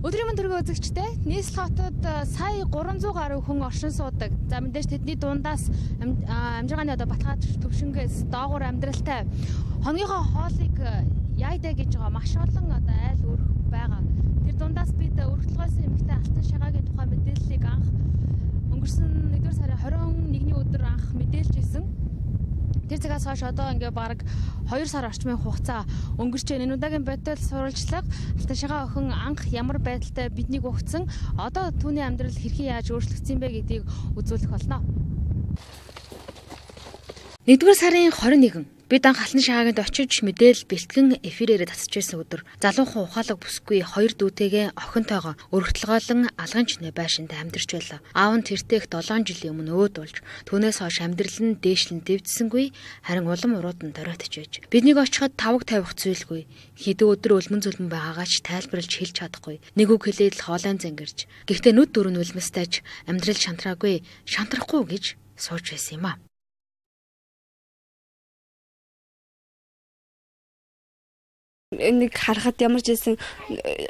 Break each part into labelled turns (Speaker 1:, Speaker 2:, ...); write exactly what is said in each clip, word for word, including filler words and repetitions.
Speaker 1: Өдрийн мэнд төргөө үзэгчтэй нийслэл хотод сая гурван зуун гаруй хүн оршин суудаг. За мэдээж тэдний дундаас амжиргааны одоо Батгай төвшингээс доогуур амьдралтай хоногийнхоо хоолыг яйдаа гэж байгаа маш олон одоо айл өрх байгаа. Тэр дундаас бид өргөдлгөөс эмэгтэй алтан шагаагийн тухай мэдээллийг анх өнгөрсөн нэгдүгээр сарын хорин нэгний өдөр анх мэдээлж исэн. Тэр цагаас хойш одоо ингээ бараг хоёр сар орчмын хугацаа өнгөрч байна. Энэ удаагийн бодол сурвалжлага алтан шагаа охин анх ямар байдалтай биднийг өгцөн одоо түүний амьдрал хэрхэн яаж өөрчлөгдсөн бэ гэдгийг үзүүлэх болно. нэгдүгээр сарын хорин нэгэн бид анх алтан шагаагийн очиж мэдээл бэлтгэн эфирээр тасч ирсэн өдөр залуухан ухаалаг бүсгүй хоёр дүүтэйгээ охинтойгоо өргөтлгоолон алган чинээ байшинд амьдарч байлаа. Аав нь тэртех долоон жилийн өмнө өөд болж түүнээс хойш амьдрал нь дээшлэн дэвдсэнгүй харин улам урууд нь доройтож байж. Биднийг очиход тавг тавих зүйлгүй. Хэдэн өдөр өлмөн зүлмэн байгаагаа ч тайлбарлаж хэлж чадахгүй. Нэг үг хэлээд л хоолойн зангирч. Гэхдээ нүд дөрөв нь үлмэстэж амьдрал шантраагүй, шантрахгүй гэж сууж байсан юм а.
Speaker 2: Нэг харахад ямар ч байсан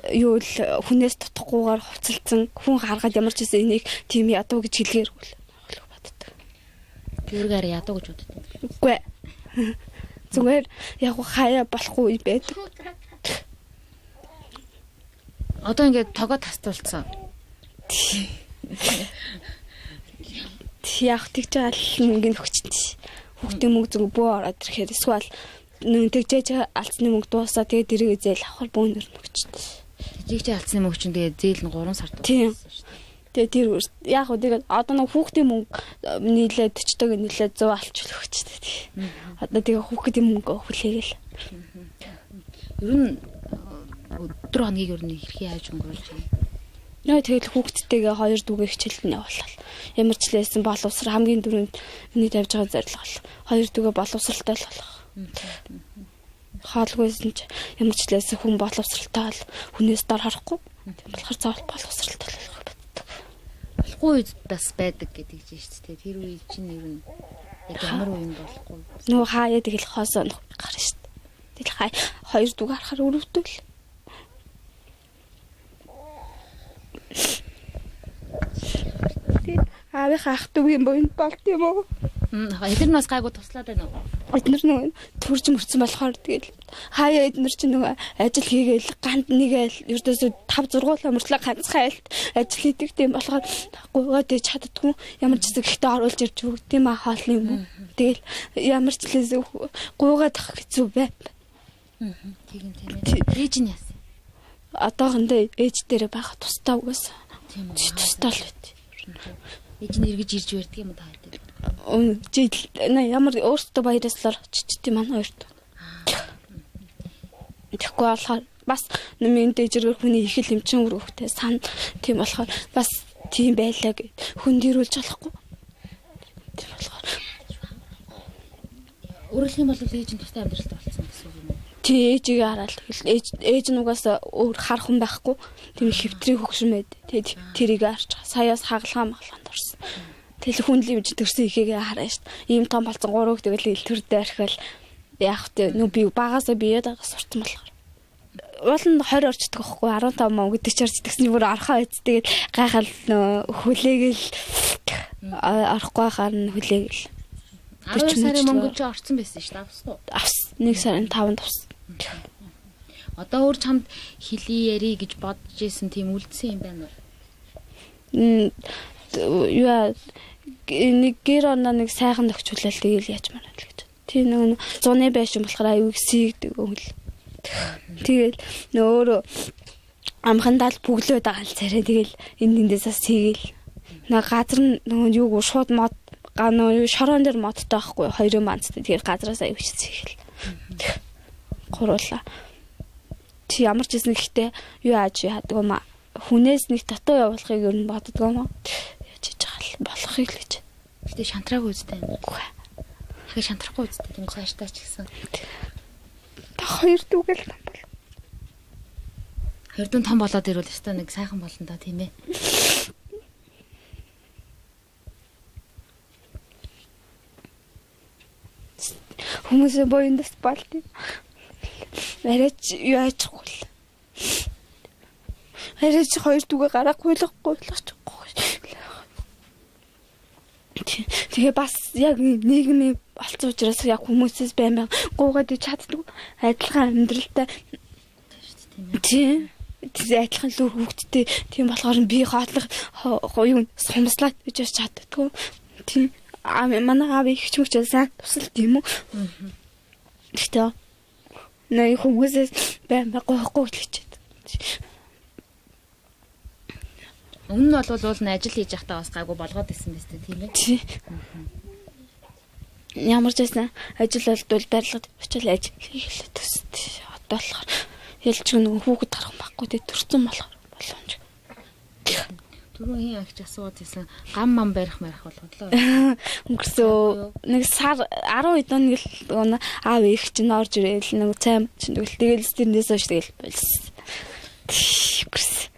Speaker 2: юу л хүнээс тутахгүйгээр хувцалцсан хүн харахад ямар ч байсан энийг тийм ядуу гэж хэлгээр боддог.
Speaker 1: Тэргээр ядуу гэж боддог.
Speaker 2: Үгүй. Зүгээр яг хаяа болохгүй байдаг.
Speaker 1: Одоо ингээд тогоо тастуулсан.
Speaker 2: Яг тэгж аль нэг хөгчтэй. Хүүхдийн мөнгө зүг бөө ороод ирэхээр эсвэл нэг тэгжээж алдсны мөнгө дуусаа тэгээд дэрэг зээл авах бөөнөр нөгчтэй.
Speaker 1: Тэгжээж алдсны мөнгө чинь тэгээд зээл нь гурван сар
Speaker 2: дууссан шүү дээ. Тэгээд тэр яг хөө тэгээд одоо нэг хүүхдийн мөнгө нийлээд өчтөг нийлээд сто алчвал өгчтэй. Одоо тэгээд хүүхдийн мөнгө хүлээгээл.
Speaker 1: Ер нь өдөр хоногийг ер нь хэрхэн яаж өнгөрүүлж байна?
Speaker 2: Нөө тэгэл хүүхдтэйгээ хоёр дүүгээ хичээлд нь явуулал. Ямар ч лээсэн боловсрал хамгийн дөрөнд миний тавьж байгаа зорилго бол хоёр дүүгээ боловсралтай л болох. Хаалгүйсэн ч ямар ч лээсэн хүн боловсралтай бол хүнээс дор харахгүй. Тийм болохоор заавал боловсралтай болох байдаг.
Speaker 1: Болохгүй үед бас байдаг гэдэг чинь шүү дээ. Тэр үе чинь ер нь яг ямар үе болохгүй.
Speaker 2: Нөө хаяа тэгэл хоосоо гарна шүү дээ. Тэгэл хай хоёр дүүг харахаар өрөвдөл. Аавынхаа ах дүүгийн боёнд болт юм уу?
Speaker 1: Эдгээр нас гайгүй туслаад байна уу?
Speaker 2: Эдгээр нэг төрж мөрцөн болохоор тэгэл хаяа эдгээр чинь нөгөө ажил хийгээл ганд нэгээл ердөөсөө тавь зургуулаа мөртлөө ганцхан айлт ажил хийдэг тийм болохоор гуйгаад чаддгүй ямар ч зүйл ихтэй оруулж ирж өгд тийм аа хоол юм уу? Тэгэл ямар ч лээс гуйгаад ах хэцүү бай.
Speaker 1: Аа тийм тийм. Ээж нь яасан?
Speaker 2: Одоохондоо ээж дээр байх тустай угаас. Тийм үү. Тустай л байт.
Speaker 1: Ээж нь эргэж ирж байдаг юм даа гэдэг.
Speaker 2: Өн жил ямар өөртөө баярлалаар чичтэй маань хоёрт. Тэгэхгүй болохоор бас нэмийн дэжрээр хүний их л эмчин өрөвтэй сан тийм болохоор бас тийм байлаа гэд хүн дэрүүлж болохгүй. Тийм болохоор
Speaker 1: өөрөлдөх юм бол ээж нь тустай амьдралтай болсон гэсэн үг юм уу?
Speaker 2: Тий ээжийг хараад тэгэл ээж ээж нугаас өөр хар хүн байхгүй. Тийм хэвтрийн хөгшин байд. Тэгээд тэрийг харж саяас хагалгаа маглаанд орсон. Тэгэл хүн л юм төрсөн ихээгээ хараа шít. Ийм том болсон гурав тэгэл илтвэрдээ архивал яах вэ? Нүү би багасаа биеэд сурцсан болохоор. Уул нь тwenty орчдөг байхгүй арван таван мөн гэдэг чи орчдгсны бүр орхоо байц. Тэгэл гайхал хүлээгээл орохгүй харна хүлээгээл.
Speaker 1: twelve сарын мөнгө чи орцсон байсан шүү дээ. Авсан уу?
Speaker 2: Авсан. нэг сарын таванд авсан.
Speaker 1: Одоо өөр чамд хилий яри гэж бодож исэн тийм үлдсэн юм байна уу?
Speaker 2: М яа нэг гэр оноо нэг сайхан төгчүүлэл тэгэл яаж мараа л гэж. Тийм нэг зуны байшин болохоор аюу сийгдэг хөл. Тэгэл нөөрөө амхандаа л бүглөөд байгаа л царай тэгэл энэ эндээсээ сийгэл. Нэг газар нь юу шууд мод ганаа шороон дээр модтой байхгүй хоёрын банцтай тэгээд газраас аюу сийгэл. Гуруула. Чи ямар ч гэсэн ихтэй юу ааж яадаг юм а. Хүнээс нэг татуу явуулахыг ер нь боддог юм аа. Яаж хийж байгаа л болохыг л гэж.
Speaker 1: Гэтэ шантраагүй үстэй. Хаа шантрахгүй үстэй тийм цааштай ч гэсэн.
Speaker 2: Та хоёр дүүгэл том бол.
Speaker 1: Хоёр дүүн том болоод ирвэл өстой нэг сайхан болно да тийм ээ.
Speaker 2: Хүмүүсээ боёндас болт. Арайч юу аачихгүй. Арай чи хоёр дүүгээ гараа гуйлахгүй болгочихгүй. Тэгээ бас яг нийгмийн олцсон учраас яг хүмүүсээс байн байн гуугаад чаддаг адилхан амьдралтай. Тийм. Тэгээ адилхан л хөвгтдээ тийм болохоор би хоотлох юу сумслаад гэж чаддаггүй. Тийм. Аа манай аав их ч мөч сайн тусал тийм үү. Тэгтээ нэг хүмүүсээс байн байн гоохгүй гэж чаддаг.
Speaker 1: Өмнө нь бол уул нь ажил хийж байхдаа бас гайгүй болгоод исэн биз дээ тийм ээ.
Speaker 2: Ямар ч байсан ажил болдвол барилгад очил ажил хийлээ төстэй. Одоо болохоор ялч нэг хүүхэд гарах байхгүй дээ төрсөн болохоор боломж.
Speaker 1: Түрүү хин агч асууад байсан гам мам барих марих болгодлоо.
Speaker 2: Өнгөрсөн нэг сар арван хэд хоног л аав их чинь орж ирээл нэг цайм чинь тэгэл тэгэл тэрнээс хойш тэгэл болсон.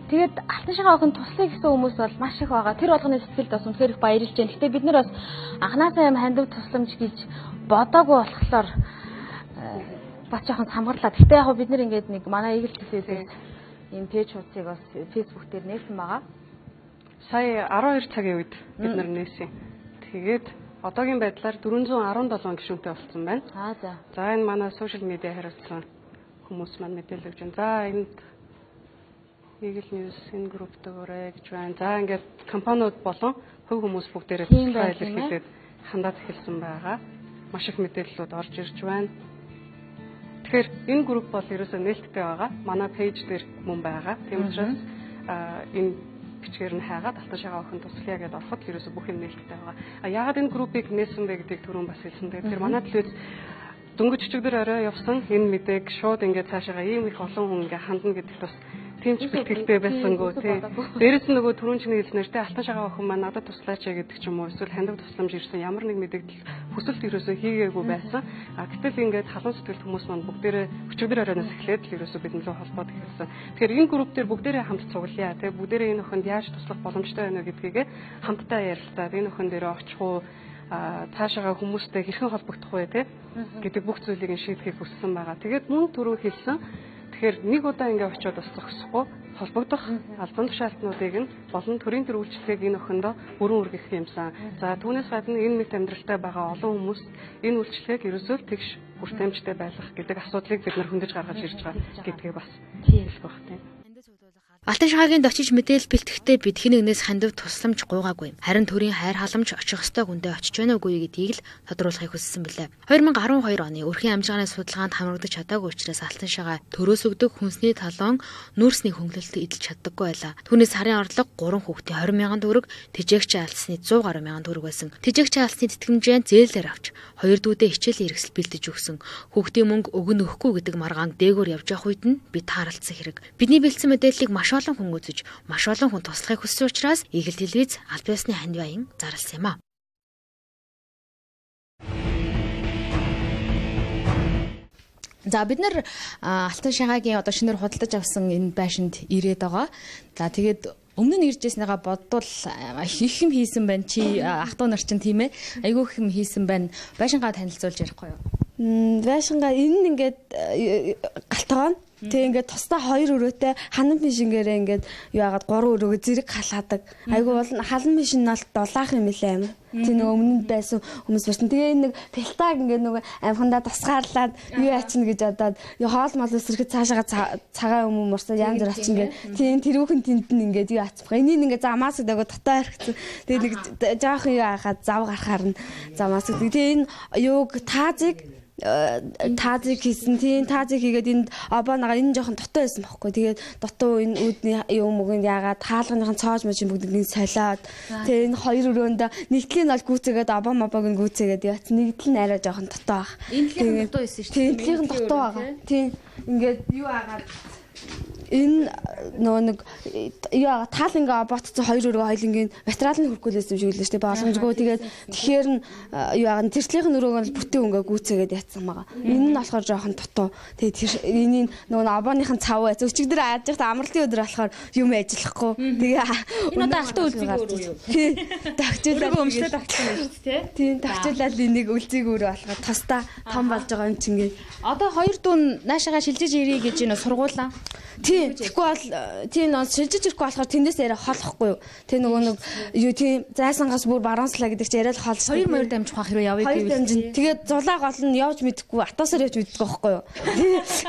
Speaker 1: Тэгээд алтан шагаа охин туслая гэсэн хүмүүс бол маш их байгаа. Тэр болгоны сэтгэлд бас үнэхээр их баярлж байна. Гэтэ бид нар бас анханасаа юм хандив тусламж гэж бодоогүй болохоор бас жоохон хамгааллаа. Гэтэ яг бид нар ингээд нэг манай Eagle Cafe-ээс энэ пэйж хуудсыг бас Facebook дээр нээсэн байгаа.
Speaker 3: Сая арван хоёр цагийн үед бид нар нээсэн. Тэгээд одоогийн байдлаар дөрвөн зуун арван долоон гишүүнтэй болсон байна.
Speaker 1: Аа за.
Speaker 3: За энэ манай сошиал медиа хариуцсан хүмүүс маань мэдээлэл өгч байна. За энд Eagle News энэ групптэйгээрээ гэж байна. За ингээд компаниуд болон хувь хүмүүс бүгдээрээ туслахаа илэрхийлээд хандаад эхэлсэн байгаа. Маш их мэдээллүүд орж ирж байна. Тэгэхээр энэ групп бол ерөөсөө нээлттэй байгаа. Манай пэйж дээр мөн байгаа. Тийм учраас энэ бичгээр нь хайгаад алтан шагаа охин туслая гэдээ ороход ерөөсөө бүх юм нээлттэй байгаа. А яагаад энэ группыг нээсэн бэ гэдгийг түрүүн бас хэлсэн. Тэгэхээр манай төлөөс дөнгөж өчигдөр орой явсан энэ мэдээг шууд ингээд цаашаа ийм их олон хүн ингээд хандна гэдэгт бас тийм ч бэлтгэлтэй байсангүй тий. Дээрээс нь нөгөө түрүүн чинь хэлснээр тий алтан шагаа охин маань надад туслаач гэдэг ч юм уу эсвэл хандив тусламж ирсэн ямар нэг мэдээлэл хүсэлт ерөөсөө хийгээгүй байсан. А гэтэл ингээд халуун сэтгэлд хүмүүс маань бүгдээрээ өчигдөр оройноос эхлээд л ерөөсөө бидний лөө холбоод эхэлсэн. Тэгэхээр энэ групп дээр бүгдээрээ хамт цуглая тий бүгдээрээ энэ охинд яаж туслах боломжтой байна гэдгийг хамтдаа ярилцаад энэ охин дээр очих уу цаашаа хүмүүстэй хэрхэн холбогдох вэ те гэдэг бүх зүйлийг шийдэхийг хүссэн байгаа. Тэгээд мөн түрүү хэлсэн. Тэгэхээр нэг удаа ингээ очиод бас зогсохгүй холбогдох албан тушаалтнуудыг нь болон төрийн төр үйлчлэгийг энэ охиндоо бүрэн үргэх юмсан. За түүнээс гадна энэ мэт амьдралтай байгаа олон хүмүүс энэ үйлчлэгийг ерөөсөө тэгш хүртээмжтэй байлгах гэдэг асуудлыг бид нар хөндөж гаргаж ирж байгаа гэдгийг бас хэлэх байх тийм.
Speaker 1: Алтан шагаагийн очиж мэдээлэл бэлтгэхдээ бид хэн нэгнээс хандив тусламж гуйгаагүй. Харин төрийн хайр халамж очих ёстой хүндээ очиж байна уугүй гэдгийг л тодруулахыг хүссэн билээ. две тысячи двадцать two оны өрхийн амжиргааны судалгаанд хамрагдаж чадаагүй учраас алтан шагаа төрөөс өгдөг хүнсний талон нүүрсний хөнгөлөлтөд эдэлж чаддаггүй байлаа. Түүнээс сарын орлого гурван хүүхдийн двадцать мянган төгрөг, тэжээгч алдсны one hundred гаруй мянган төгрөг байсан. Тэжээгч алдсны тэтгэмжийн зээлээр авч хоёр дүүдээ хичээлийн хэрэгсэл бэлдэж өгсөн. Хүүхдийн мөнгө өгнө өгөхгүй гэдэг маргаан дээгүүр явж явах үед нь бид тааралцсан хэрэг. Бидний бэлдсэн мэдээллийг маш олон хүн үзэж, маш олон хүн туслахыг хүссэн учраас Eagle телевиз аль биесны хань баян зарласан юм а. За бид нар алтан шагаагийн одоо шинээр худалдаж авсан энэ байшинд ирээд байгаа. За тэгээд өмнө нь ирж байснаагаа бодвол их юм хийсэн байна. Чи ах トゥ нар чинь тийм ээ. Айгүй их юм хийсэн байна. Байшингаа танилцуулж ярихгүй юу?
Speaker 2: Байшингаа энэ нь ингээд галтгаан. Тэг ингээд тусдаа хоёр өрөөтэй ханан машингээрээ ингээд юу яагаад гурван өрөөгөө зэрэг халаадаг. Айгу бол халан машин нь дулаах юм билээ амир. Тэг нэг өмнөд байсан хүмүүс байсан. Тэгээ нэг пилтаг ингээд нөгөө амхандаа тусгаарлаад юу ячна гэж бодоод хоол мол өсөрөхөд цаашаа цагаан юм мурсаа янз бүр ачна гэ. Тийм тэрүүхэн тэнд нь ингээд юу ацбах. Энийг ингээд замаас дээгөө дотоо харчихсан. Тэгээ нэг жоох юу яхаад зав гарахаар нь замаас. Тэгээ энэ юуг таазыг таазыг хийсэн тийм таазыг хийгээд энд обоонагаар энэ жоохон дотоо байсан байхгүй. Тэгээд дотоо энэ үүдний юм өгөнд яагаад хаалганыхан цоож мэж бүгднийг солиод тэгээд энэ хоёр өрөөнд нэгдлийн бол гүцээгээд обоо мобог нь гүцээгээд яац нэгдэл нь арай жоохон дотоо баг.
Speaker 1: Энэ л дотоо байсан шүү дээ.
Speaker 2: Тийм дотоо байгаа. Тийм ингээд юу агаад энэ нөгөө нэг яа тааланга ботцсон хоёр өрөө хоёлынгийн материал нь хөргүүлсэн юм шиг л шүү дээ. Боломжгүй тэгээд тэгэхээр нь яа тэрслийнх нь өрөөг нь бүтэн өнгө гүйцээгээд ятсан байгаа. Энэ нь болохоор жоохон дутуу. Тэгээд тэр энэний нөгөө абооныхын цав байц өчигдөр ааж явах амралтын өдөр болохоор юм ажиллахгүй. Тэгээ
Speaker 1: энэ одоо алтан үлзийг өрөө юу?
Speaker 2: Тагчуулаад
Speaker 1: өмчлөө тагчсан юм шүү дээ.
Speaker 2: Тийм тагчуулаад энийг үлзийг өрөө болохоор тостаа том болж байгаа юм чинь.
Speaker 1: Одоо хоёр дүүн наашаага шилжиж ирээ гэж энэ сургуулаа.
Speaker 2: Тийм тэгэхгүй бол тийм нөө шилжиж ирэхгүй болохоор тэндээс яриа холохгүй юу. Тэг нөгөө нэг юу тийм зайсангаас бүр баруунслаа гэдэг чи яриа л холж.
Speaker 1: Хоёр морь дамжих хэрэг явъя
Speaker 2: гэвэл. Тэгээд зулаа гол нь явж мэдэхгүй атаасаар явж мэддэг байхгүй юу.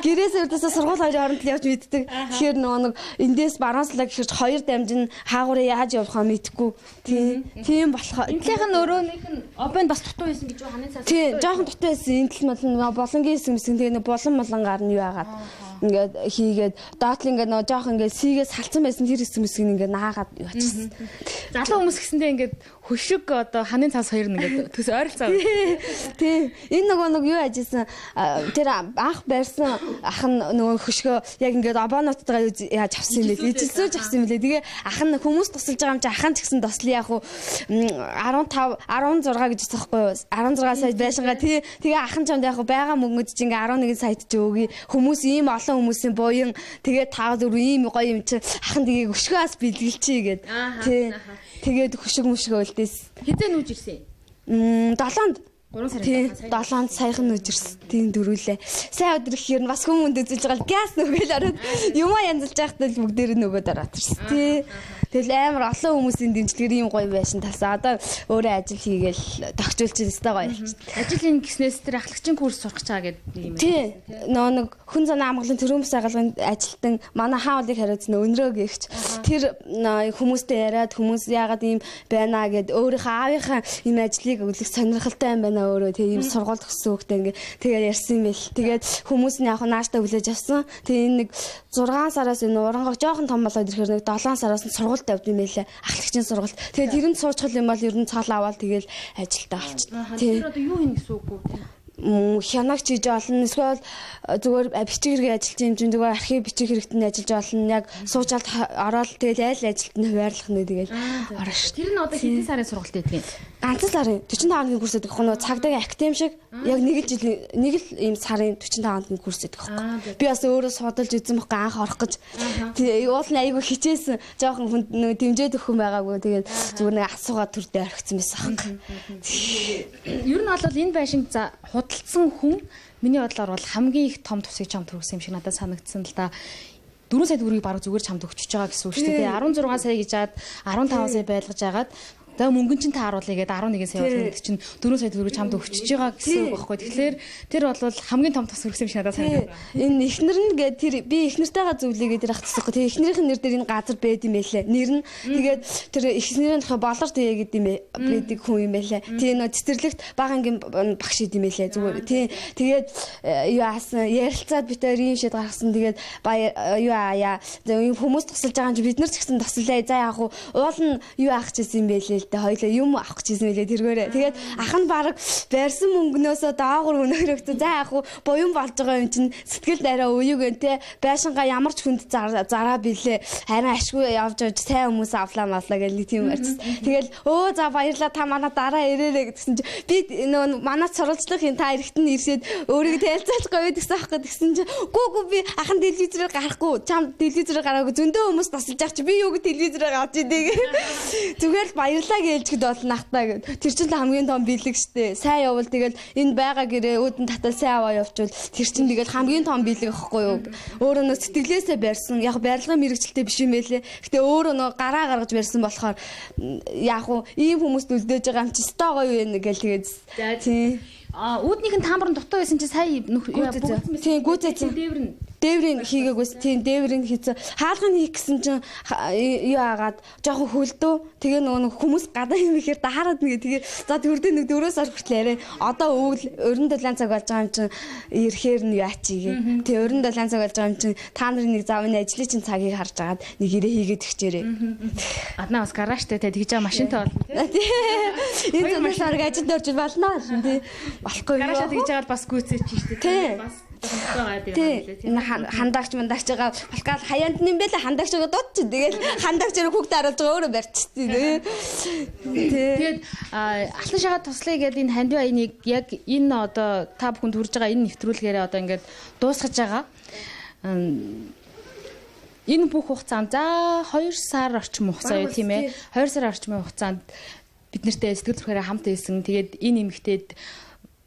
Speaker 2: Гэрээс өрдөөсөө сургууль хоёрын хооронд л явж мэддэг. Тэгэхээр нөгөө нэг эндээс баруунслаа гэхэрч хоёр дамжин хаагуураа яаж явахаа мэдэхгүй. Тийм тийм болохоор
Speaker 1: энтлийнх нь өрөөнийх нь обын бас дутуу байсан гэж ханын цаас.
Speaker 2: Тийм жоохон дутуу байсан. Энтэл мал болонгийн хэсэг мэсгэн тэгээд болон молонгаар нь юу яагаад ингээд хийгээд доотлын ингээд нөө жоох ингээд сийгээс салцсан байсан тэр хэсэг мэсгийг ингээд наагаад юу ачсан.
Speaker 1: Залуу хүмүүс гэсэндээ ингээд хөшиг одоо ханын цаас хоёр нь ингээд төс ойролцоо.
Speaker 2: Тийм. Энэ нөгөө нэг юу ажижсан тэр анх барьсан ах нь нөгөө хөшгөө яг ингээд обоонуудтайгаа яаж авсан юм бэ? Ижилсүүж авсан юм лээ. Тэгээ ах нь хүмүүс тусалж байгаа юм чи ахын ч гэсэн тослоо яг уу арван тав арван зураг гэж байгаа байхгүй юу? арван зураг сая байшингаа тий тэгээ ахын чамд яг уу байгаа мөнгөд чи ингээд арван нэг саяд ч өгье. Хүмүүс ийм олон хүмүүсийн буян тэгээ таа зүр ийм гоё юм чи ахын тэгээ хөшгөөс бэлгэлчээ гээд тий тэгээд хөшиг мөшгөө үлдээс
Speaker 1: хизээ нүүж ирсэн
Speaker 2: юм долоонд
Speaker 1: гурван сарын
Speaker 2: долоонд саяхан нүүж ирсэн тийм дөрүүлээ сайн өдөр ихээр нь бас хүмүүнд үзэж байгаа л газ нүгэл ороод юмаа янзалж байхдаа л бүгдээр нөгөөд ороод ирсэн тий тэгэл амар олон хүмүүсийн дэмжлэгээр ийм гоё байшин талсан одоо өөрөө ажил хийгээл тогтжуулж өстой гоё болчихсон
Speaker 1: ажил ин гиснээс тэр ахлагчийн курс сурах гэж байгаа гэдэг юм
Speaker 2: тий нөө нэг хүн зан амгалан төрөмс агалганд ажилтан манай хаалыг хариуцсан өнрөө гихч тэр хүмүүстэй яриад хүмүүс яагаад ийм байна гэд өөрийнхөө аавынхаа ийм ажлыг өглөх сонирхолтой юм байна өөрөө тий ийм сургууль төгссөн хөлтэй ингээ тэгээд ярьсан юм бэл тэгээд хүмүүс нь яг нааштай хүлээж авсан тий энэ нэг зургаан сараас энэ урангах жоохон том болоод ирэхээр нэг долоон сараас нь сургууль тавьд юм байлаа ахлагчийн сургууль тэгээд тэр нь суучхал юм бол ер нь цаал аваад тэгэл ажилдаа болчихсон тий
Speaker 1: тэр одоо юу хийнэ гэсэн үг үү
Speaker 2: хянагч хийж олно эсвэл зүгээр бичих хэрэг ажиллаж юм чинь зүгээр архив бичих хэрэгтэн ажиллаж олно яг суучаалд ороод тэгэл айл ажилд нь хуваарлах нэ тэгэл орно ш.
Speaker 1: Тэр нь одоо хэдэн сарын сургалт байдаг юм?
Speaker 2: Ганцхан сарын forty-five хоногийн курс гэдэг хөө цагдаагийн академи шиг яг нэг л жил нэг л ийм сарын forty-five хоногийн курс гэдэг хөө. Би бас өөрөө судалж үзэн байхгүй анх орох гэж. Тэгээ уул нь айгүй хичээсэн жоохон хүнд нөө дэмжээд өгөх юм байгаагүй тэгээд зүгээр нэг асуугаад төрдөө орхицсан байсан аах.
Speaker 1: Ер нь бол энэ байшинг за худалдсан хүн миний бодлоор бол хамгийн их том тусыг чамд төрүүлсэн юм шиг надад санагдсан л да. four сая төгрөгийг баруун зүгээр чамд өгчөж байгаа гэсэн үг шүү дээ. sixteen сая гэж хаад fifteen сая байлгаж агаад тэгээ мөнгөн чинь тааруулъя гэдэг eleven сая болгох чинь four сая төгрөгийг чамд өгчөж байгаа гэсэн үг байхгүй. Тэгэхээр тэр бол хамгийн том тус өргөсөн юм шиг надад санагдав.
Speaker 2: Энэ эхнэр нь гэдэг тэр би эхнэртэйгээ зөвлөе гэдэг ахчихсан. Тэгээ эхнэрийнх нь нэр дээр энэ газар байд юм байлээ. Нэр нь тэгээд тэр эхнэрийн болор тэгээ гэдэг юм байдаг хүн юм байлээ. Тэгээ нөө цэцэрлэгт багангийн багш идэм байлээ зүгээр. Тий тэгээд юу аасан ярилцаад битээр ийм шийд гаргасан. Тэгээд юу аа хүмүүс тусалж байгаа юм чи бид нар ч гэсэн туслаа. За яг уу уул нь юу аах гэсэн юм байлээ. Тэ хоёлаа юм авах гэсэн мэлээ тэргээрээ. Тэгээд ах нь баг байрсан мөнгнөөсөө даагуур өнөөрөгт за яг уу буян болж байгаа юм чинь сэтгэл дараа үеүгэн те байшингаа ямар ч хүнд зараа билээ. Харин ашгүй явж явж сайн хүмүүс авлаа маллаа гэж нэг тийм ярьсан. Тэгэл өө за баярлаа та манай дараа ирээрэй гэсэн чи би нөө манай сурвалжлах юм та эрэхтэн ирсээд өөрийгөө тайлцаалахгүй гэдэгсэн аахгүй гэсэн чи гүү гүү би ахын телевизээр гарахгүй чам телевизээр гараагүй зөндөө хүмүүс тасалж байгаа чи би юу гэ телевизээр гарч идэг. Зүгээр л баярлаа ээлжгэд болно ахтаа гэд. Тэр чинь хамгийн том бэлэг штэ. Сайн явал тэгэл энэ байгаа гэрээ өөдөн татал сайн аваа явуучвал тэр чинь тэгэл хамгийн том бэлэг ахгүй юу. Өөрөө нөө сэтгэлээсээ барьсан. Яг барилгын мэрэгчлээ биш юм байлээ. Гэтэ өөрөө нөө гараа гаргаж барьсан болохоор яг уу ийм хүмүүст үлдээж байгаа юм чи өстой гоё вэ гэл тэгээд тий.
Speaker 1: А үүднийх нь таамар нь дутуу байсан чи сая бүгд
Speaker 2: тий гүцээсэн
Speaker 1: дээвэр нь
Speaker 2: дээврийн хийгээгүйс тийм дээврийн хийсэн хаалгын хийх гэсэн чинь юу агаад жоохон хөлдөө тэгээ нөгөө хүмүүс гадаа юм ихээр даарад нэгэ тэгээ за төрдөө нэг дөрөөс ор хүртэл арай одоо өвөл өрн долоон цаг болж байгаа юм чинь ирэхээр нь яачигээ тэгээ өрн долоон цаг болж байгаа юм чинь та нарын нэг зав энэ ажлын чинь цагийг харж агаад нэг ирээ хийгээд өгчээрээ
Speaker 1: аднаа бас гараажтай тэгээ тэгж байгаа машинтай болно
Speaker 2: энэ зөвхөн ажил дөрж болно тий болохгүй
Speaker 1: гараашаа тэгж байгаа бас гүйцээч шүү дээ
Speaker 2: тий Тий. Хандагч мандагч байгаа балкал хаяанд юм бэ л хандагч байгаа дуудчих. Тэгэл хандагч хүүхд харуулж байгаа өөрөө барьчихсан тий.
Speaker 1: Тэгээд алтан шагаа туслая гэдэг энэ хандив аяныг яг энэ одоо та бүхэнд хүрж байгаа энэ нэвтрүүлгээрээ одоо ингээд дуусгаж байгаа. Энэ бүх хугацаанд за хоёр сар орчим хугацаа юу тийм ээ. хоёр сар орчмын хугацаанд бид нартэй сэтгэл зүрхээрээ хамт байсан. Тэгээд энэ эмэгтэйд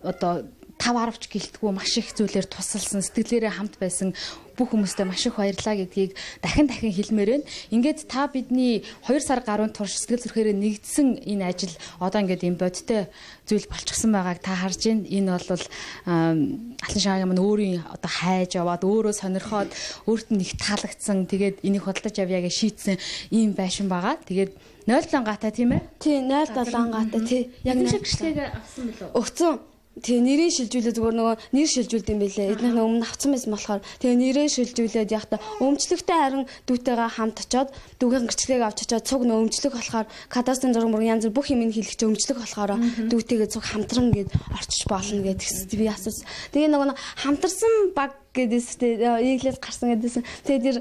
Speaker 1: одоо тав аравч гэлтгүү маш их зүйлээр тусалсан, сэтгэлээрээ хамт байсан бүх хүмүүстээ маш их баярлалаа гэдгийг дахин дахин хэлмээр байна. Ингээд та бидний хоёр сар гаруй турш сэтгэл зүрхээрээ нэгдсэн энэ ажил одоо ингээд юм бодтой зүйл болчихсон байгааг та харж байна. Энэ бол алтан шаагийн маань өөрийн одоо хайж яваад өөрөө сонирхоод өөрт нь их таалагдсан. Тэгээд энийг худалдаж авъя гэж шийдсэн ийм байшин байгаа. Тэгээд нуль гаатай тийм ээ?
Speaker 2: Тий, нуль гаатай тий.
Speaker 1: Яг нэг шигшлэгээ авсан билүү?
Speaker 2: Өгцөн. Тэгээ нэрээ шилжүүлээ зүгээр нөгөө нэр шилжүүлд юм байлээ. Эднийх нь өмнө авсан байсан болохоор тэгээ нэрээ шилжүүлээд яхта өмчлөгтэй харин дүүтэйгээ хамт очоод дүүгийн гэрчлэгийг авч очоод цуг нөө өмчлөг болохоор кадастрын зураг мөр янз бүр бүх юм хэлэх чинь өмчлөг болохоор дүүтэйгээ цуг хамтран гээд орчиж болно гэдэгс би асуусан. Тэгээ нөгөө хамтарсан баг гэдээстэй иглээс гарсан гэдээсэн. Тэгээ тэр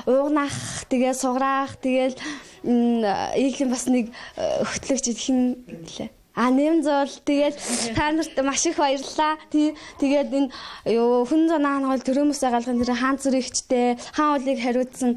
Speaker 2: уугнах тэгээ суграах тэгэл иглийн бас нэг хөтлөгч хин гэлээ. А нэмзол тэгээд та нарт маш их баярлалаа. Тэгээд энэ юу хүн зунаан хол төрөөмөсөө галгын тэр хаан зүрэгчтэй, хаан уулыг хариуцсан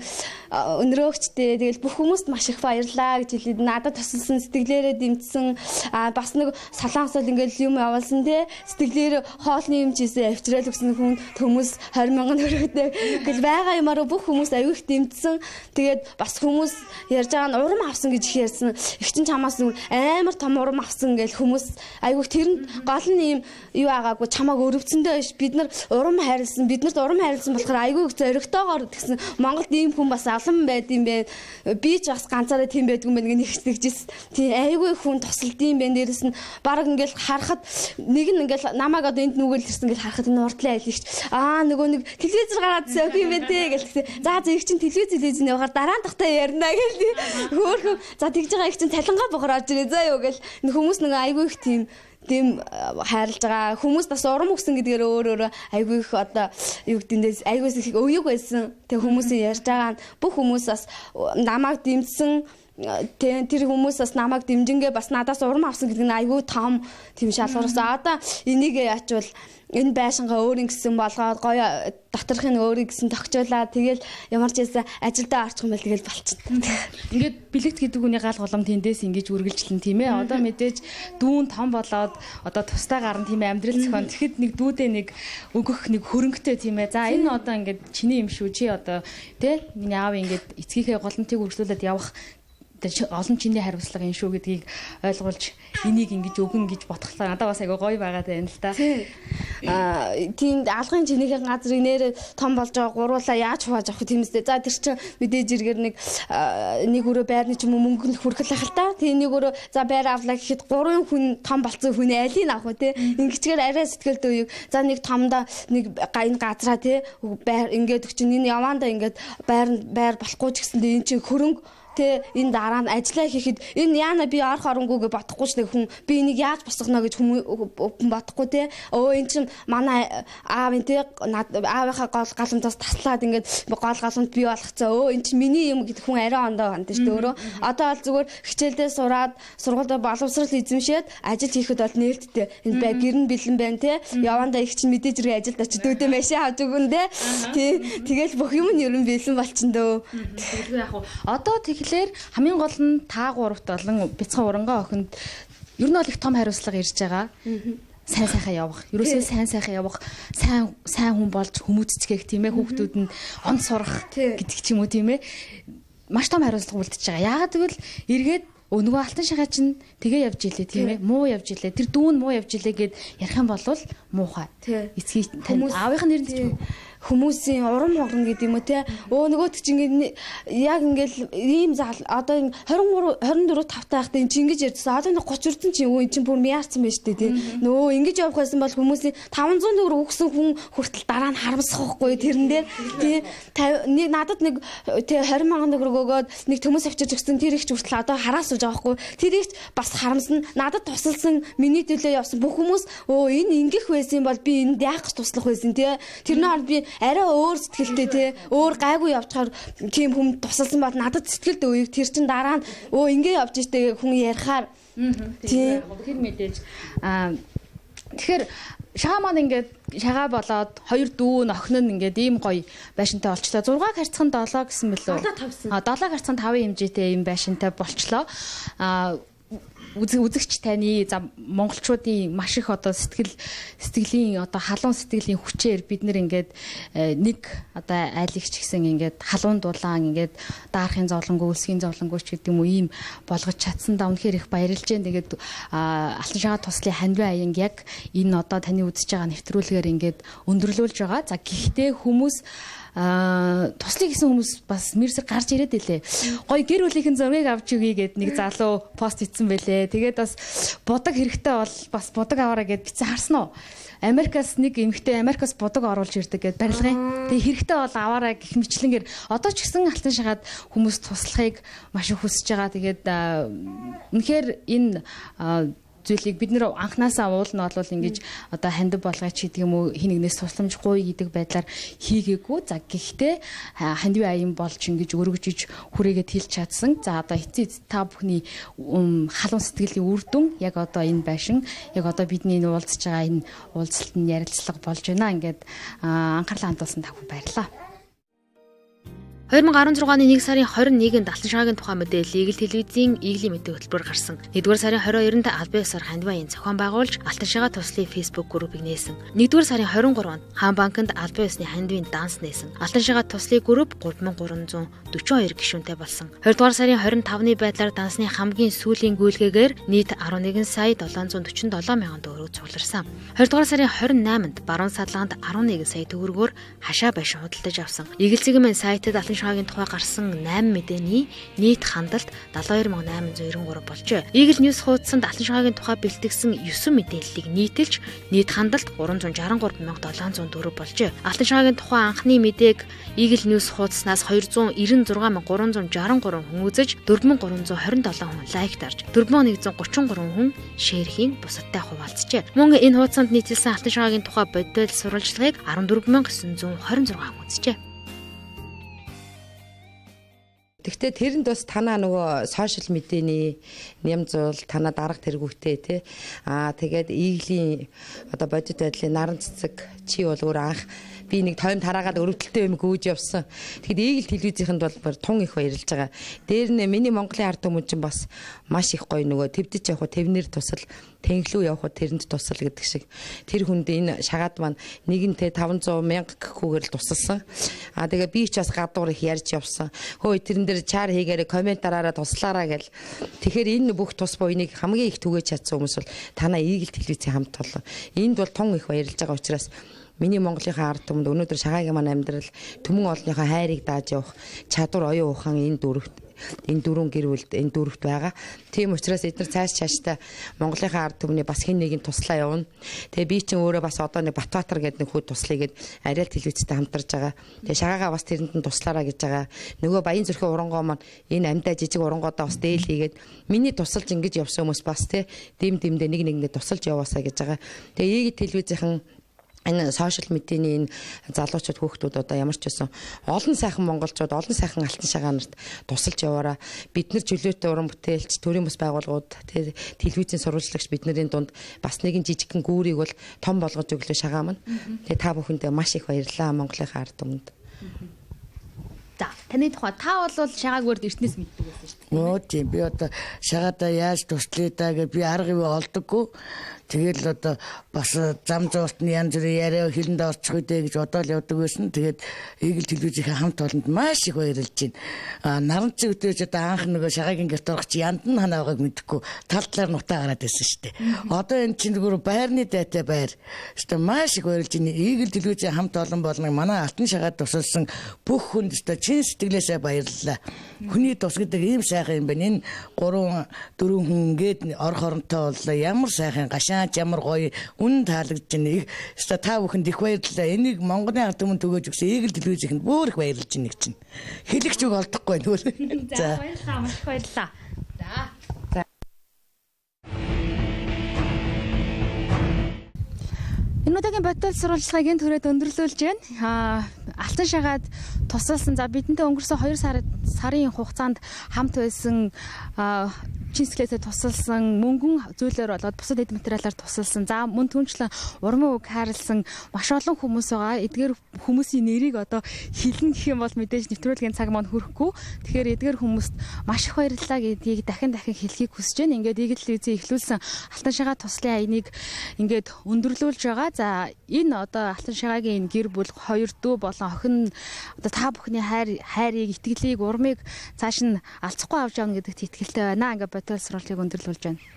Speaker 2: өнрөөгчтэй тэгээд бүх хүмүүст маш их баярлалаа гэж хэлээд надад тусалсан сэтгэлээрээ дэмжсэн а бас нэг солонгосол ингээл юм явуулсан те сэтгэлээр хоолны юм чийсэн авчраал өгсөн хүн хүмүүс двадцать мянган төгрөгтэй гэл байгаа юмараа бүх хүмүүс аюу их дэмжсэн. Тэгээд бас хүмүүс ярьж байгаа нь урам авсан гэж их ярьсан. Их чин чамаас амар том урам авсан ингээл хүмүүс айгуух тэрэнд гол нь юм юу агаагүй чамааг өрөвцөндөө биш бид нар урам хайрлсан биднэрт урам хайрлсан болохоор айгуух зоригтойгоор гэсэн Монголд ийм хүн бас олон байд юм бэ би ч бас ганцаараа тийм байдгүй юм байна нэгтгэжсэн тийм айгуух хүн тусалд юм бэ дээрэс нь баг ингээл харахад нэг нь ингээл намайг одоо энд нүгэл ирсэн ингээл харахад энэ уртлын айлгч аа нөгөө нэг телевизээр гараад сök юм бэ те гэлээ за зэрэг чин телевиз телевизний явахаар дараа нь тахтаа ярина гэл хөөхөн за тэгж байгаа их чин цалингаа бохор орж ирээ за юу гэл хүмүүс нэг айгүй их тийм тийм хайрлаж байгаа хүмүүс бас урам өгсөн гэдгээр өөр өөр айгүй их одоо юу гэдээс айгүйс их өвөг байсан. Тэг хүмүүсийн ярьж байгаа нь бүх хүмүүс бас намайг дэмжсэн тэр хүмүүс бас намайг дэмжингээ бас надаас урам авсан гэдэг нь айгүй том тийм шалгуурсан. Одоо энийг ячвал энэ байшингаа өөрийн гэсэн болгоод гоё доторхын өөрийн гэсэн тогтоолаа тэгэл ямар ч байсан ажилдаа орчих юм бол тэгэл болчихно.
Speaker 1: Ингээд бэлэгт гэдэг үний гал голом тэндээс ингэж үргэлжлэн тийм ээ. Одоо мэдээж дүүн том болоод одоо тустай гарна тийм ээ амьдрал зохион. Тэгэхэд нэг дүүдээ нэг өгөх нэг хөрөнгөтэй тийм ээ. За энэ одоо ингээд чиний юм шүү чи одоо тий миний аав ингээд эцгийнхээ голомтыг үргэлжлүүлээд явах олон чиний хариуцлага энэ шүү гэдгийг ойлгуулж энийг ингэж өгөн гэж ботглоо. Надад бас айгүй гоё байгаад байна л да.
Speaker 2: Аа тийм алгын чинийхээ газрыг нэр том болж байгаа гуруулаа яаж хувааж авах тиймстэй. За тэр чинь мэдээж иргэр нэг нэг өрөө байрны ч юм уу мөнгө нь хүрхэл ах л та. Тийм нэг өрөө за байр авлаа гэхэд гурван хүн том болцсон хүн алийг авах уу те. Ингэчгээр арай сэтгэлд үеиг за нэг томдоо нэг энэ газраа те байр ингээд өчн энэ яваандаа ингээд байр байр болохгүй ч гэсэндээ энэ чинь хөрөнгө тэ энэ дараа нь ажиллаа хийхэд энэ яана би орох оронгүйгээ бодохгүй ч нэг хүн би энийг яаж босгоно гэж хүн бодохгүй те өө эн чин манай аав энэ те аавынхаа гол галантаас таслаад ингээд гол галант бий болгоцоо өө эн чин миний юм гэдэг хүн арай ондоо ганд шүү дээ өөрөө одоо бол зүгээр хичээлдээ сураад сургуультай боловсрал эзэмшээд ажил хийхэд бол нээлттэй энэ бай гэрн бэлэн байна те явандаа их чин мэдээж ирээ ажилд очиж дүүдээ машин авч өгөн те тий тэгэл бүх юм нь ер нь бэлэн болчихно дөө
Speaker 1: тэгэхээр яг одоо тэгэхээр хамгийн гол нь та гуравт болон бяцхан урангай охинд ер нь бол их том хариуцлага ирж байгаа. Сайн сайхан явах. Ерөөсөө сайн сайхан явах, сайн сайн хүн болж хүмүүццгээх тийм ээ хүүхдүүд нь он сурах гэдэг ч юм уу тийм ээ. Маш том хариуцлага үлдчихэж байгаа. Яагаад гэвэл эргээд нөгөө алтан шагаа чинь тэгээ явж илээ тийм ээ. Муу явж илээ. Тэр дүүн муу явж илээ гэд ярих юм бол муухай. Эцгийн аавынх нь нэр нь
Speaker 2: хүмүүсийн урам хугарна гэдэг юм уу те. Өө нөгөөт чи ингээд яг ингээд ийм зал одоо тwenty-three twenty-four five таахтай эн чи ингэж ярьдсан. Одоо нэг thirty өрдөн чи өө эн чи бүр мяарцсан байж тээ те. Нөө ингэж явах байсан бол хүмүүсийн five hundred төгрөг өгсөн хүн хүртэл дараа нь харамсах байхгүй тэрэн дээр тий нэг надад нэг тий twenty сая төгрөг өгөөд нэг төмөс авчирч өгсөн тэр их ч хүртэл одоо хараас сууж байгаа байхгүй. Тэр их бас харамсна. Надад тусалсан миний төлөө явсан бүх хүмүүс өө энэ ингэх байсан бол би энд яах гэж туслах байсан тий. Тэрний хооронд би арай өөр сэтгэлтэй тий өөр гайгүй явчихаар тийм хүн тусалсан бол надад сэтгэлд өөйг тэр чин дараа нь өө ингэ явж штэ хүн ярихаар тий
Speaker 1: тэр мэдээж аа тэгэхээр шагаа маань ингээд шагаа болоод хоёр дүү охин нь ингээд ийм гоё байшинтай болчлоо. six харьцан seven гэсэн мөлөө. А seven харьцан five хэмжээтэй ийм байшинтай болчлоо. А үзэгч таны за монголчуудын маш их одоо сэтгэл сэтгэлийн одоо халуун сэтгэлийн хүчээр бид нэр ингээд нэг одоо айлгч гэсэн ингээд халуун дулаан ингээд даарахын зовлонгүй үлсгийн зовлонгуйч гэдэг юм уу ийм болгож чадсандаа үнэхээр их баярлж байна. Тэгээд алтан шагаа туслын хандив аян яг энэ одоо таны үзэж байгаа нэвтрүүлгээр ингээд өндөрлүүлж байгаа. За гэхдээ хүмүүс а туслах гэсэн хүмүүс бас мэрсэг гарч ирээд илээ. Гой гэр бүлийнхэн зургийг авч өгье гэд нэг залуу пост хийсэн байлээ. Тэгээд бас будаг хэрэгтэй бол бас будаг аваараа гэд бичсэн харсан уу? Америкаас нэг эмэгтэй Америкаас будаг оруулж ирдэг гэд барилгын. Тэгээ хэрэгтэй бол аваараа гэх мэтлэнгээр одоо ч гэсэн алтан шагаад хүмүүс туслахыг маш их хүсэж байгаа. Тэгээд үнэхээр энэ зүйлийг бид нэр анханасаа уулна бол ингэж одоо хандив болгоч гэдэг юм уу хинэгнээс тусламжгүй гэдэг байдлаар хийгээгүй. За гэхдээ хандив аян болж ингэж өргөжж хүрээгээд хэлж чадсан. За одоо эцэг та бүхний халуун сэтгэлийн үр дүн яг одоо энэ байшин яг одоо бидний уулзж байгаа энэ уулзалтанд ярилцлага болж байна. Ингээд анхаарлаа хандуулсан та бүхэн баярлалаа. twenty sixteen оны one сарын twenty-first-нд алтан шагагийн тухай мэдээлэл Игэл телевизийн Иглийн мэдээ хөтөлбөр гарсан. нэгдүгээр сарын twenty-second-нд албан ёсоор хандив аян зохион байгуулж алтан шагаа туслын Facebook группыг нээсэн. нэгдүгээр сарын twenty-third-нд Хаан банкнд албан ёсны хандивын данс нээсэн. Алтан шагаа туслын групп three thousand three hundred forty-two гишүүнтэй болсон. twenty-second сарын twenty-fifth-ны байдлаар дансны хамгийн сүүлийн гүйлгээгээр нийт eleven сая seven hundred forty-seven мянган төгрөг цугларсан. twenty-second сарын twenty-eighth-нд баруун садлаганд eleven сая төгрөгөөр хашаа байшин худалдаж авсан. Игэл цэгийн сайтад алтан шагагийн тухай гарсан eight мэдээний нийт хандлт seventy-two thousand eight hundred ninety-three болжээ. Игэл News хуудсанд алтан шагагийн тухай бэлтгэсэн nine мэдээллийг нийтэлж нийт хандлт three hundred sixty-three thousand seven hundred four болжээ. Алтан шагагийн тухай анхны мэдээг Игэл News хуудаснаас two hundred ninety-six thousand three hundred sixty-three хүн үзэж four thousand three hundred twenty-seven хүн лайк дарж four thousand one hundred thirty-three хүн шеэрхийн бусадтай хуваалцжээ. Мөн энэ хуудсанд нийтэлсэн алтан шагагийн тухай бодит сурвалжлагыг fourteen thousand nine hundred twenty-six хүн үзжээ.
Speaker 4: Гэхдээ тэрэнд бас танаа нөгөө сошиал медианий нямзуул танаа дарга тэргүүтэй тий. Аа тэгээд Иглийн одоо бодит байдлын наран цэцэг чи бол өөр анх би нэг тойм тараагаад өрөвдөлтөй юм гүйж явсан. Тэгэхэд Игэл телевизийнхэнд бол тун их баярлж байгаа. Дээр нэ миний Монголын ард түмэн чинь бас маш их гоё нөгөө твдэж явах тэвнэр тусал тэнглүү явах тэрэнд тусал гэдэг шиг. Тэр хүнд энэ шагаад маань нэгэнтээ five hundred мянга гэхүүгээр л тусалсан. Аа тэгээ би ч бас гадуур их ярьж явсан. Хөөе тэрэн дээр чар хийгээрээ комментараараа туслаараа гэл. Тэгэхээр энэ бүх тус буйныг хамгийн их түгэж чадсан хүмүүс бол танаа Игэл телевизийн хамт толгой. Энд бол тун их баярлж байгаа учраас миний Монголынхаа ард түмэнд өнөөдөр шагаагийн маань амьдрал түмэн олонныхоо хайрыг дааж явах чадвар оюун ухаан энэ дөрөвт энэ дөрвөн гэр бүлд энэ дөрөвт байгаа. Тийм учраас эдгээр цааш цааштай Монголынхаа ард түмний бас хэн нэгэн туслаа явна. Тэгээ би чинь өөрөө бас одоо нэг Батбаатар гэдэг нэг хүүд туслая гэд Ариал телевизтэй хамтарж байгаа. Тэгээ шагаагаа бас тэрэнд нь туслаараа гэж байгаа. Нөгөө Баян зүрхийн урангоо маань энэ амьдаа жижиг урангуудаа бас дээл хийгээд миний тусалж ингэж явсан хүмүүс бас тий дэм дэмдээ нэг нэгэндээ тусалж яваасаа гэж байгаа. Тэгээ Игэл телевизийнхэн энэ сошиал медианий энэ залуучууд хүүхдүүд одоо ямар ч байсан олон сайхан монголчууд олон сайхан алтан шагаа нарт тусалж яваараа бид нар чөлөөтэй уран бүтээлч төрийн бас байгууллагууд телевизийн сурвалжлагч бидний дунд бас нэгэн жижигхэн гүүрийг бол том болгож өглөө шагаа маань. Тэгээ та бүхэндээ маш их баярлалаа Монголынхаа ард түмэнд.
Speaker 1: За Таны тухай та бол шагаагүйр эртнээс мэддэг байсан шүү дээ.
Speaker 5: Оо тийм би одоо шагаадаа яаж туслая даа гэж би арга ив олдоггүй. Тэгэл одоо бас зам зууртны янз бүрийн яриа хэлэнд орчих үедээ гэж бодоол явдаг байсан. Тэгээд Игэл телевизийн хамт олонд маш их баярлж байна. А наранцын үтээж одоо анх нөгөө шагаагийн гэрт орох чи янд нь ханаа байгааг мэдэхгүй тал талаар нутаа гараад байсан шүү дээ. Одоо энэ чинь зүгээр байрны дайтай байр. Өстө маш их баярлж байна. Игэл телевизийн хамт олон болныг манай алтан шагаад тусалсан бүх хүнд өстө чин сэтгэлээсээ баярлалаа. Хүний тус гэдэг ийм сайхан юм байна. Энэ гурван дөрвөн хүн ингээд орох оронтой боллоо. Ямар сайхан гашаа ямар гоё үн таалагдж байна. Өстө та бүхэнд их баярлалаа. Энийг Монголын ард түмэн төгөөж өгсөн Игэл телевизийнхэнд бүр их баярлж байна гэж чинь. Хэлэгч үг олдохгүй нүүр.
Speaker 1: За баярлалаа. Маш их баярлалаа. За. Энэ удаагийн бодол сурвалжлагыг энэ төрөд өндөрлүүлж байна. Аа алтан шагаад тусалсан за бидэнтэй өнгөрсөн хоёр сарын хугацаанд хамт байсан чинсгэлээсээ тусалсан мөнгөн зүйлээр болоод бусад эд материалаар тусалсан. За мөн түнчлэн урмын үг хайрлсан маш олон хүмүүс байгаа. Эдгээр хүмүүсийн нэрийг одоо хэлнэ гэх юм бол мэдээж нэвтрүүлгийн цаг маань хүрэхгүй. Тэгэхээр эдгээр хүмүүст маш их баярлалаа гэдгийг дахин дахин хэлхийг хүсэж байна. Ингээд Игэл телевизийн эхлүүлсэн алтан шагаа туслын аяныг ингээд өндөрлүүлж байгаа. За энэ одоо алтан шагаагийн энэ гэр бүл хоёр дүү болон охин одоо та бүхний хайр хайрыг итгэлийг урмыг цааш нь алцахгүй авч явна гэдэгт итгэлтэй байна. Ингээд бодол сурвалжлагыг өндөрлүүлж байна.